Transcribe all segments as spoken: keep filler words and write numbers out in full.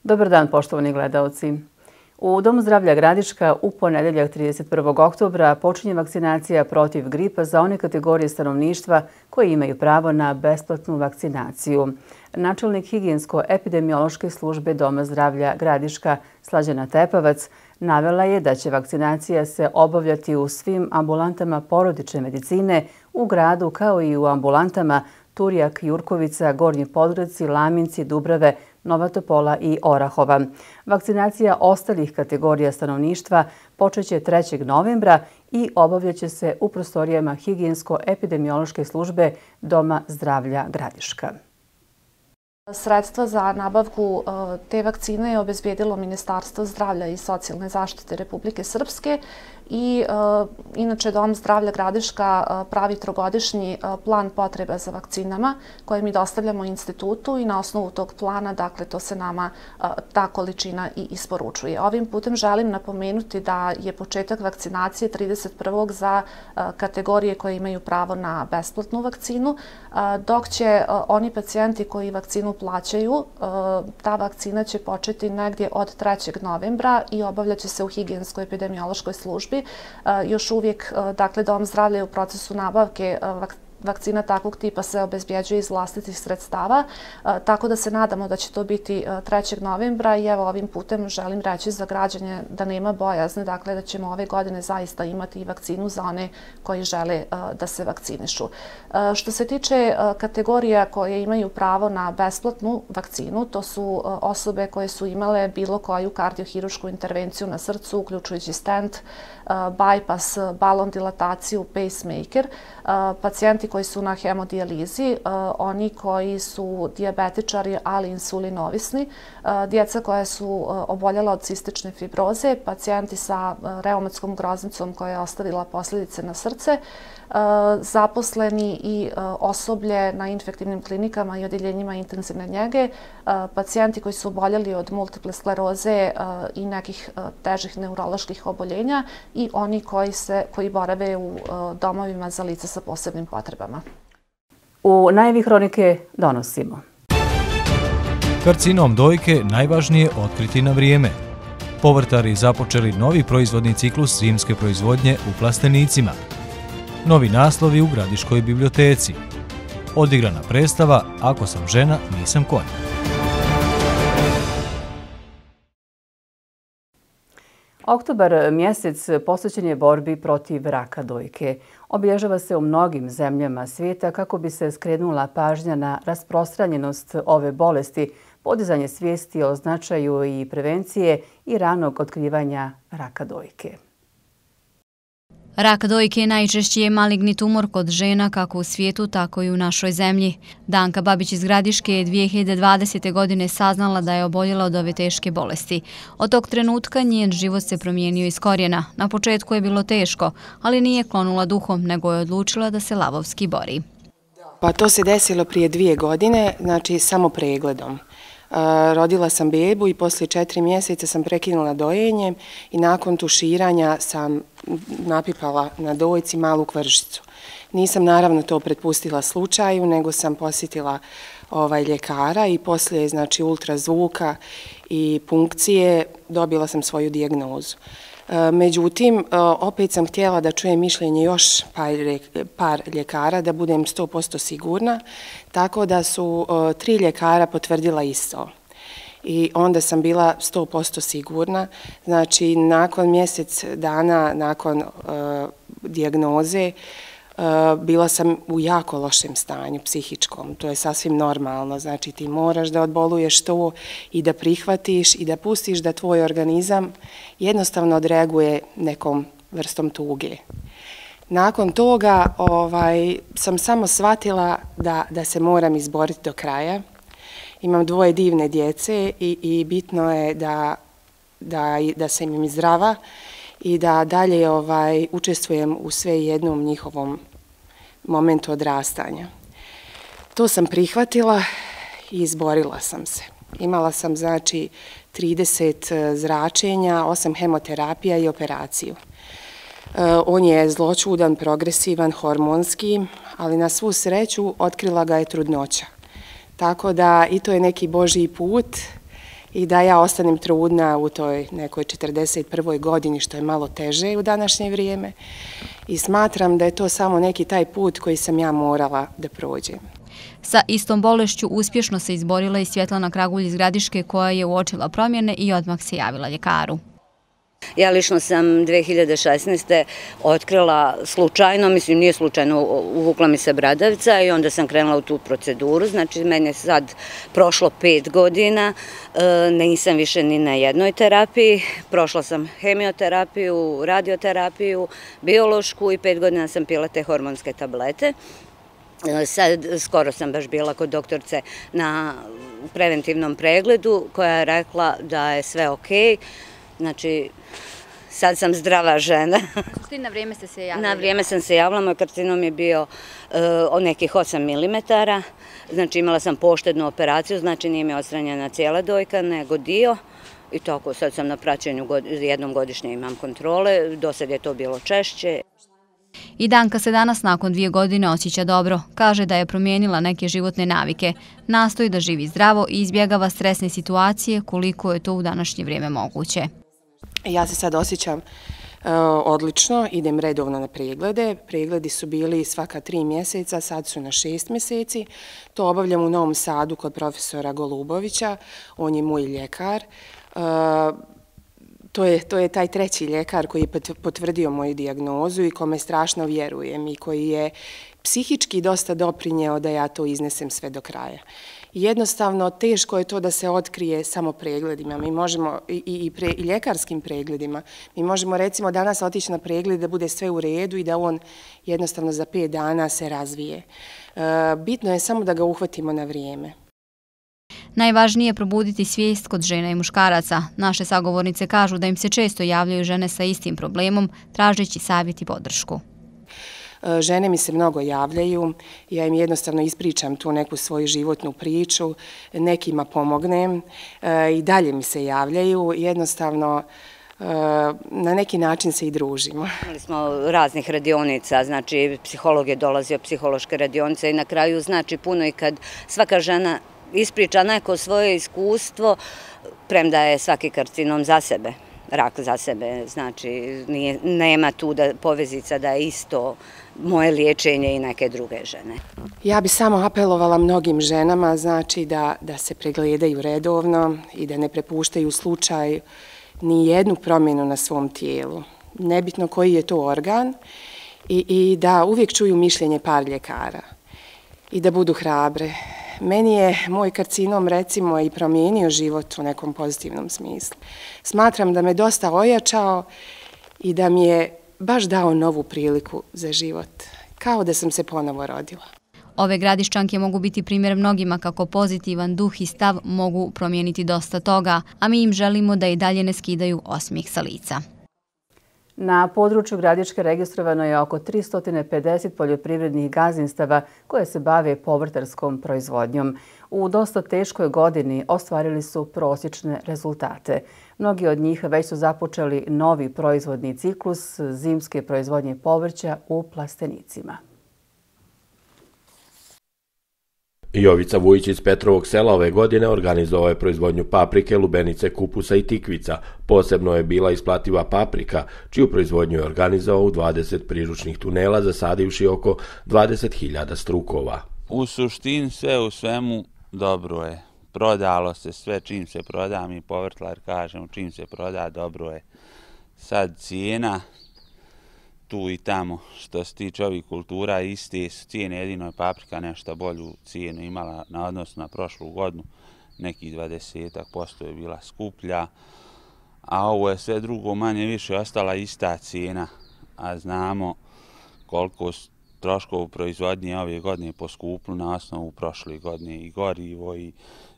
Dobar dan, poštovani gledaoci. U Domu zdravlja Gradiška u ponedeljak trideset prvog oktobra počinje vakcinacija protiv gripa za one kategorije stanovništva koji imaju pravo na besplatnu vakcinaciju. Načelnik higijensko-epidemiološke službe Doma zdravlja Gradiška Slađana Tepavac navela je da će vakcinacija se obavljati u svim ambulantama porodične medicine u gradu kao i u ambulantama Turjak, Jurkovica, Gornji Podgradci, Laminci, Dubrave, Nova Topola i Orahova. Vakcinacija ostalih kategorija stanovništva počeće trećeg novembra i obavljaće se u prostorijama higijensko-epidemiološke službe Doma zdravlja Gradiška. Sredstva za nabavku te vakcine je obezbedilo Ministarstvo zdravlja i socijalne zaštite Republike Srpske i inače Dom zdravlja Gradiška pravi trogodišnji plan potreba za vakcinama koje mi dostavljamo institutu i na osnovu tog plana, dakle, to se nama ta količina i isporučuje. Ovim putem želim napomenuti da je početak vakcinacije trideset prvog za kategorije koje imaju pravo na besplatnu vakcinu, dok će oni pacijenti koji vakcinu plaćaju, ta vakcina će početi negdje od trećeg novembra i obavljaće se u higijensko-epidemiološkoj službi. Još uvijek, dakle, Dom zdravlja je u procesu nabavke vakcina. Vakcina takvog tipa se obezbjeđuje iz vlastitih sredstava, tako da se nadamo da će to biti trećeg novembra i evo ovim putem želim reći za građane da nema bojazne, dakle da ćemo ove godine zaista imati i vakcinu za one koji žele da se vakcinišu. Što se tiče kategorija koje imaju pravo na besplatnu vakcinu, to su osobe koje su imale bilo koju kardiohirušku intervenciju na srcu, uključujući stent, bypass, balon dilataciju, pacemaker, pacijenti koji su na hemodijalizi, oni koji su dijabetičari, ali insulinovisni, djeca koja su oboljela od cistične fibroze, pacijenti sa reumatskom groznicom koja je ostavila posljedice na srce, zaposleni i osoblje na infektivnim klinikama i odjeljenjima intenzivne njege, pacijenti koji su oboljeli od multiple skleroze i nekih težih neuroloških oboljenja i oni koji, se, koji borave u domovima za lica sa posebnim potrebama. U najavi hronike donosimo. Karcinom dojke najvažnije otkriti na vrijeme. Povrtari započeli novi proizvodni ciklus zimske proizvodnje u plastenicima. Novi naslovi u Gradiškoj biblioteci. Odigrana predstava Ako sam žena, nisam konj. Oktobar mjesec posvećen je borbi protiv raka dojke. Obilježava se u mnogim zemljama svijeta kako bi se skrenula pažnja na rasprostranjenost ove bolesti, podizanje svijesti o značaju i prevencije i ranog otkrivanja raka dojke. Rak dojke najčešći je maligni tumor kod žena kako u svijetu, tako i u našoj zemlji. Danka Babić iz Gradiške je dvije hiljade dvadesete. godine saznala da je oboljela od ove teške bolesti. Od tog trenutka njen život se promijenio iz korijena. Na početku je bilo teško, ali nije klonula duhom, nego je odlučila da se lavovski bori. Pa to se desilo prije dvije godine, znači samo pregledom. Rodila sam bebu i poslije četiri mjeseca sam prekinula dojenje i nakon tuširanja sam napipala na dojci malu kvržicu. Nisam naravno to prepustila slučaju, nego sam posjetila ovaj ljekara i poslije znači ultrazvuka i punkcije dobila sam svoju dijagnozu. Međutim, opet sam htjela da čujem mišljenje još par ljekara, da budem sto posto sigurna, tako da su tri ljekara potvrdila isto. I onda sam bila sto posto sigurna. Znači, nakon mjesec dana, nakon dijagnoze, bila sam u jako lošem stanju, psihičkom. To je sasvim normalno. Znači, ti moraš da odboluješ to i da prihvatiš i da pustiš da tvoj organizam jednostavno odreaguje nekom vrstom tuge. Nakon toga ovaj, sam samo shvatila da, da se moram izboriti do kraja. Imam dvoje divne djece i, i bitno je da, da, da sam im zdrava i da dalje ovaj, učestvujem u sve jednom njihovom momentu odrastanja. To sam prihvatila i izborila sam se. Imala sam znači trideset zračenja, osam hemoterapija i operaciju. On je zločudan, progresivan, hormonski, ali na svu sreću otkrila ga je trudnoća. Tako da i to je neki Božji put i da ja ostanem trudna u toj nekoj četrdeset prvoj godini, što je malo teže u današnje vrijeme. I smatram da je to samo neki taj put koji sam ja morala da prođem. Sa istom bolešću uspješno se izborila i Svjetlana Kragulj iz Gradiške, koja je uočila promjene i odmah se javila ljekaru. Ja lično sam dve hiljade šesnaeste. otkrila slučajno, mislim nije slučajno, uvukla mi se bradavica i onda sam krenula u tu proceduru. Znači, meni je sad prošlo pet godina, nisam više ni na jednoj terapiji. Prošla sam hemioterapiju, radioterapiju, biološku i pet godina sam pila te hormonske tablete. Sad, skoro sam baš bila kod doktorce na preventivnom pregledu koja je rekla da je sve okej. Znači, sad sam zdrava žena. Na vrijeme ste se javili? Na vrijeme sam se javila, moj karcinom je bio od nekih osam milimetara, znači imala sam poštednu operaciju, znači nije mi odstranjena cijela dojka, nego dio. I tako, sad sam na praćenju, jednom godišnje imam kontrole, do sad je to bilo češće. I Danka se danas nakon dvije godine osjeća dobro. Kaže da je promijenila neke životne navike. Nastoji da živi zdravo i izbjegava stresne situacije koliko je to u današnje vrijeme moguće. Ja se sad osjećam odlično, idem redovno na preglede. Pregledi su bili svaka tri mjeseca, sad su na šest mjeseci. To obavljam u Novom Sadu kod profesora Golubovića, on je moj ljekar. To je, to je taj treći ljekar koji je potvrdio moju dijagnozu i kome strašno vjerujem i koji je psihički dosta doprinjeo da ja to iznesem sve do kraja. Jednostavno, teško je to da se otkrije samo pregledima. Mi možemo, i, i, pre, i ljekarskim pregledima, mi možemo recimo danas otići na pregled da bude sve u redu i da on jednostavno za pet dana se razvije. E, bitno je samo da ga uhvatimo na vrijeme. Najvažnije je probuditi svijest kod žena i muškaraca. Naše sagovornice kažu da im se često javljaju žene sa istim problemom, tražeći savjet i podršku. Žene mi se mnogo javljaju, ja im jednostavno ispričam tu neku svoju životnu priču, nekima pomognem i dalje mi se javljaju, jednostavno na neki način se i družimo. Imali smo raznih radionica, znači psiholog je dolazio, psihološke radionice i na kraju znači puno i kad svaka žena ispriča neko svoje iskustvo, premda je svaki karcinom za sebe, rak za sebe, znači nije, nema tu da, povezica da je isto moje liječenje i neke druge žene. Ja bi samo apelovala mnogim ženama, znači da, da se pregledaju redovno i da ne prepuštaju slučaj ni jednu promjenu na svom tijelu. Nebitno koji je to organ i, i da uvijek čuju mišljenje par ljekara i da budu hrabre. Meni je moj karcinom recimo i promijenio život u nekom pozitivnom smislu. Smatram da me dosta ojačao i da mi je baš dao novu priliku za život, kao da sam se ponovo rodila. Ove Gradiščanke mogu biti primjer mnogima kako pozitivan duh i stav mogu promijeniti dosta toga, a mi im želimo da i dalje ne skidaju osmijeh sa lica. Na području Gradiške registrovano je oko tristo pedeset poljoprivrednih gazdinstava koje se bave povrtarskom proizvodnjom. U dosta teškoj godini ostvarili su prosječne rezultate. Mnogi od njih već su započeli novi proizvodni ciklus zimske proizvodnje povrća u plastenicima. Jovica Vujić iz Petrovog Sela ove godine organizovao je proizvodnju paprike, lubenice, kupusa i tikvica. Posebno je bila isplativa paprika, čiju proizvodnju je organizovao u dvadeset priručnih tunela, zasadivši oko dvadeset hiljada strukova. U suštini sve u svemu dobro je. Prodalo se sve čim se proda, mi povrtlar kažemo čim se proda dobro je. Sad cijena tu i tamo, što se tiče ovih kultura, iste su cijene, jedino je paprika nešto bolju cijenu imala na odnosu na prošlu godinu, nekih dvadeset posto je bila skuplja, a ovo je sve drugo manje više ostala ista cijena, a znamo koliko troškova u proizvodnji ove godine poskuplu na osnovu prošle godine, i gorivo, i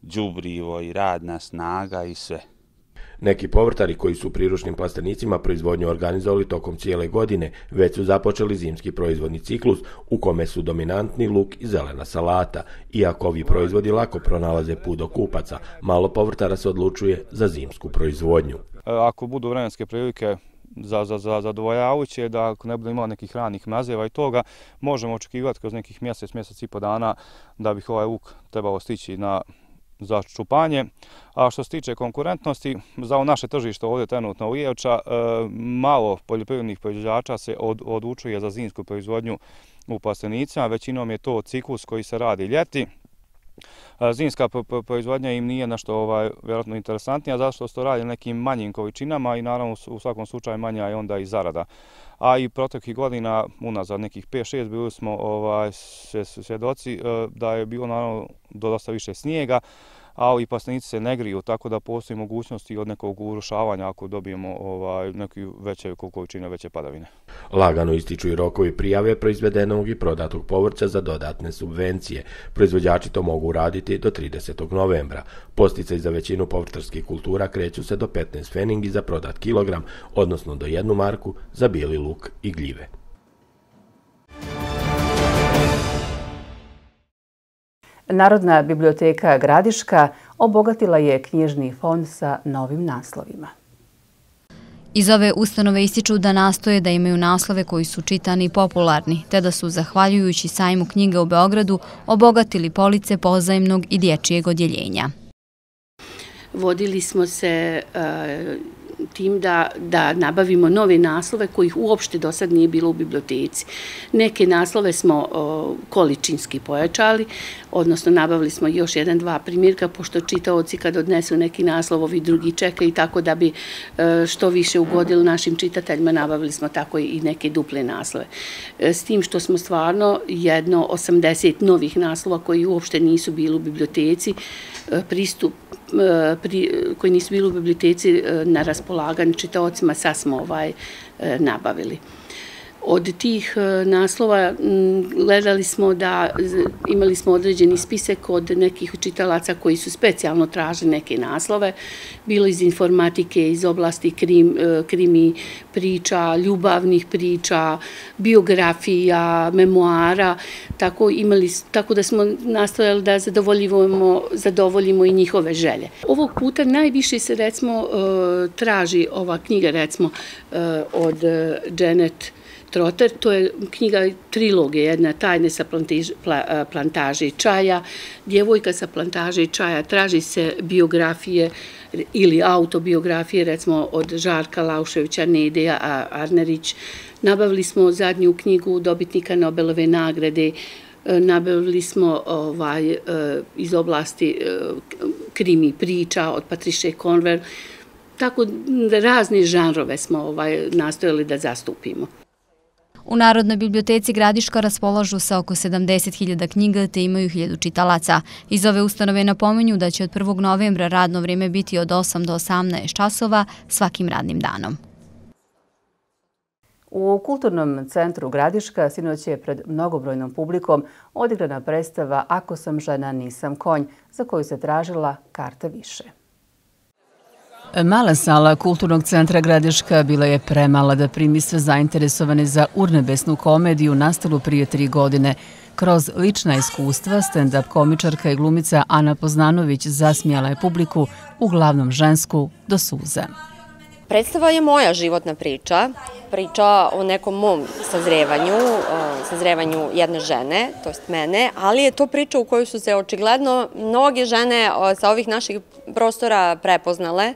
đubrivo, i radna snaga, i sve. Neki povrtari koji su u priručnim plastenicima proizvodnju organizovali tokom cijele godine već su započeli zimski proizvodni ciklus u kome su dominantni luk i zelena salata. Iako ovi proizvodi lako pronalaze put do kupaca, malo povrtara se odlučuje za zimsku proizvodnju. Ako budu vremenske prilike za, za, za zadovoljavajuće, da ako ne bude imala nekih ranih mazeva i toga, možemo očekivati kroz nekih mjesec, mjesec i po dana da bi ovaj luk trebalo stići na za čupanje, A što se tiče konkurentnosti, za ovo naše tržište ovdje trenutno u Ijevča, malo poljoprivrednih proizvođača se odlučuje za zimsku proizvodnju u plastenicima, većinom je to ciklus koji se radi ljeti. Zimska proizvodnja im nije nešto vjerojatno interesantnija, zato što se to radi nekim manjim količinama i naravno u svakom slučaju manja je onda i zarada. A i proteklih godina, unazad nekih pet šest, bili smo svjedoci da je bilo naravno dosta više snijega, ali i plastenici se ne griju, tako da postoji mogućnosti od nekog urušavanja ako dobijemo neke veće količine, veće padavine. Lagano ističu i rokovi prijave proizvedenog i prodatog povrća za dodatne subvencije. Proizvođači to mogu raditi do tridesetog novembra. Posticaji za većinu povrtarskih kultura kreću se do petnaest feningi za prodat kilogram, odnosno do jednu marku za bijeli luk i gljive. Narodna biblioteka Gradiška obogatila je knjižni fond sa novim naslovima. Iz ove ustanove ističu da nastoje da imaju naslove koji su čitani i popularni, te da su, zahvaljujući sajmu knjiga u Beogradu, obogatili police pozajemnog i dječijeg odjeljenja. Vodili smo se tim da, da nabavimo nove naslove kojih uopšte do sad nije bilo u biblioteci. Neke naslove smo o, količinski pojačali, odnosno nabavili smo još jedan, dva primjerka, pošto čitaoci kad odnesu neki naslov, ovi drugi čekaju, tako da bi e, što više ugodili našim čitateljima, nabavili smo tako i neke duple naslove. E, s tim što smo stvarno jedno osamdeset novih naslova koji uopšte nisu bili u biblioteci, e, pristup Pri, koji nisu bili u biblioteci na raspolaganju čitaocima, sad smo ovaj, nabavili. Od tih naslova gledali smo da imali smo određeni spisak od nekih čitalaca koji su specijalno tražili neke naslove, bilo iz informatike, iz oblasti krim, krimi priča, ljubavnih priča, biografija, memoara, tako, imali, tako da smo nastojali da zadovoljimo, zadovoljimo i njihove želje. Ovog puta najviše se recimo traži ova knjiga recimo od Janet Trotter, to je knjiga trilogije, jedna Tajne sa plantaže čaja, Djevojka sa plantaže čaja, traži se biografije ili autobiografije, recimo od Žarka Lauševića, Nedeja Arnerić. Nabavili smo zadnju knjigu dobitnika Nobelove nagrade, nabavili smo ovaj, iz oblasti krimi priča od Patriše Conver, tako razne žanrove smo ovaj, nastojali da zastupimo. U Narodnoj biblioteci Gradiška raspolažu sa oko sedamdeset hiljada knjiga te imaju hiljadu čitalaca. Iz ove ustanove napominju da će od prvog novembra radno vrijeme biti od osam do osamnaest časova svakim radnim danom. U Kulturnom centru Gradiška sinoć je pred mnogobrojnom publikom odigrana predstava Ako sam žena, nisam konj, za koju se tražila karta više. Mala sala Kulturnog centra Gradiška bila je premala da primi sve zainteresovane za urnebesnu komediju nastalu prije tri godine. Kroz lična iskustva, stand-up komičarka i glumica Ana Poznanović zasmijala je publiku, uglavnom žensku, do suza. Predstava je moja životna priča, priča o nekom mom sazrevanju, sazrevanju jedne žene, to jest mene, ali je to priča u kojoj su se očigledno mnoge žene sa ovih naših prostora prepoznale.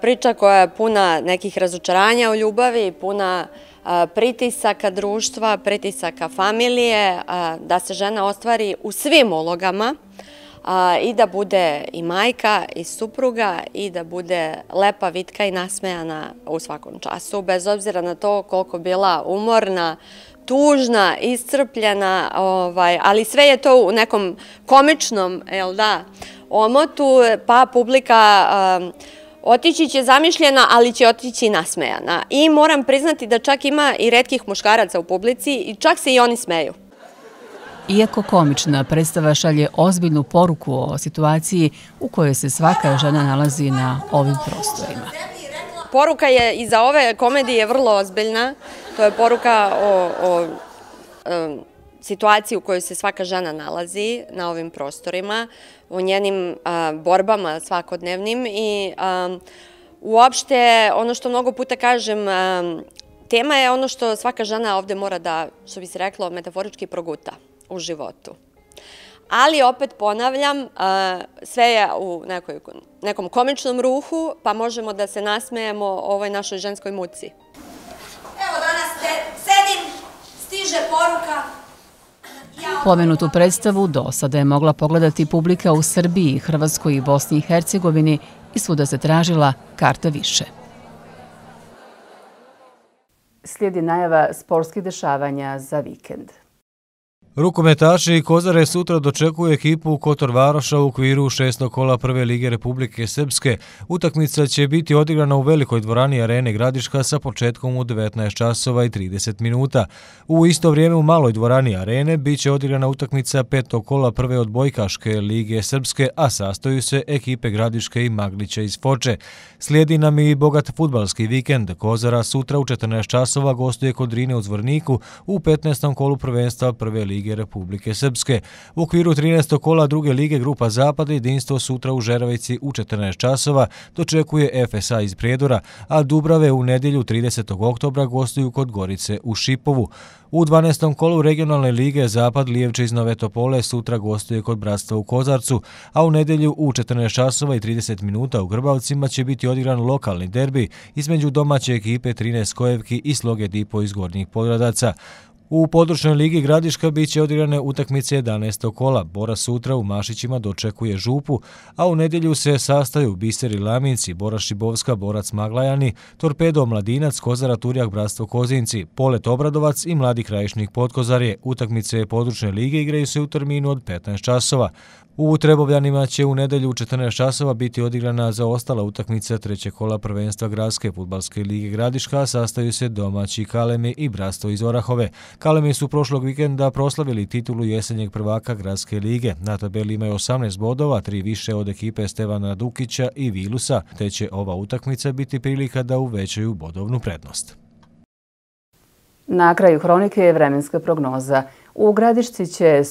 Priča koja je puna nekih razočaranja u ljubavi, puna pritisaka društva, pritisaka familije, da se žena ostvari u svim ulogama, i da bude i majka i supruga i da bude lepa, vitka i nasmejana u svakom času, bez obzira na to koliko bila umorna, tužna, iscrpljena, ali sve je to u nekom komičnom omotu, pa publika otići će zamišljena, ali će otići nasmejana. I moram priznati da čak ima i retkih muškaraca u publici i čak se i oni smeju. Iako komična, predstava šalje ozbiljnu poruku o situaciji u kojoj se svaka žena nalazi na ovim prostorima. Poruka je iza ove komedije vrlo ozbiljna. To je poruka o, o um, situaciji u kojoj se svaka žena nalazi na ovim prostorima, o njenim uh, borbama svakodnevnim i um, uopšte ono što mnogo puta kažem, um, tema je ono što svaka žena ovde mora da, što bi se reklo, metaforički proguta u životu. ali opet ponavljam, sve je u nekom komičnom ruhu, pa možemo da se nasmejemo ovoj našoj ženskoj muci. Evo danas sedim, stiže poruka. Pomenutu predstavu do sada je mogla pogledati publika u Srbiji, Hrvatskoj i Bosni i Hercegovini i svuda se tražila karta više. Slijedi najava sportskih dešavanja za vikend. Rukometaši Kozare sutra dočekuju ekipu Kotor Varoša u okviru šestog kola Prve lige Republike Srpske. Utakmica će biti odigrana u velikoj dvorani Arene Gradiška sa početkom u devetnaest časova i trideset minuta. U isto vrijeme u maloj dvorani Arene bit će odigrana utakmica petog kola Prve odbojkaške lige Srpske, a sastoju se ekipe Gradiške i Maglića iz Foče. Slijedi nam i bogat fudbalski vikend. Kozara sutra u četrnaest časova gostuje kod Drine u Zvorniku u petnaestom kolu prvenstva Prve lige Republike Srpske. U okviru trinaestog kola druge lige Grupa Zapad jedinstvo sutra u Žeravici u četrnaest časova dočekuje F S A iz Prijedora, a Dubrave u nedjelju tridesetog oktobra gostuju kod Gorice u Šipovu. U dvanaestom kolu regionalne lige Zapad Lijevče iz Nove Topole sutra gostuje kod Bratstva u Kozarcu, a u nedjelju u četrnaest časova i trideset minuta u Grbavcima će biti odigran lokalni derbi između domaće ekipe trinaest Skojevki i Sloge Dipo iz Gornjih Podradaca. U područnoj ligi Gradiška bit će odigrane utakmice jedanaestog kola. Bora sutra u Mašićima dočekuje Župu, a u nedjelju se sastaju Biser i Laminci, Bora Šibovska, Borac Maglajani, Torpedo Mladinac, Kozara Turjak, Bratstvo Kozinci, Polet Obradovac i Mladi Krajišnik Podkozarje. Utakmice područne lige igraju se u terminu od petnaest časova. U Trebovljanima će u nedjelju u četrnaest časova biti odigrana zaostala utakmica trećeg kola prvenstva Gradske fudbalske lige Gradiška, sastaju se domaći Kalemi i Bratstvo iz Orahove. Kalemi su prošlog vikenda proslavili titulu jesenjeg prvaka Gradske lige. Na tabeli imaju osamnaest bodova, tri više od ekipe Stevana Dukića i Vilusa, te će ova utakmica biti prilika da uvećaju bodovnu prednost. Na kraju hronike je vremenska prognoza. U Gradišci će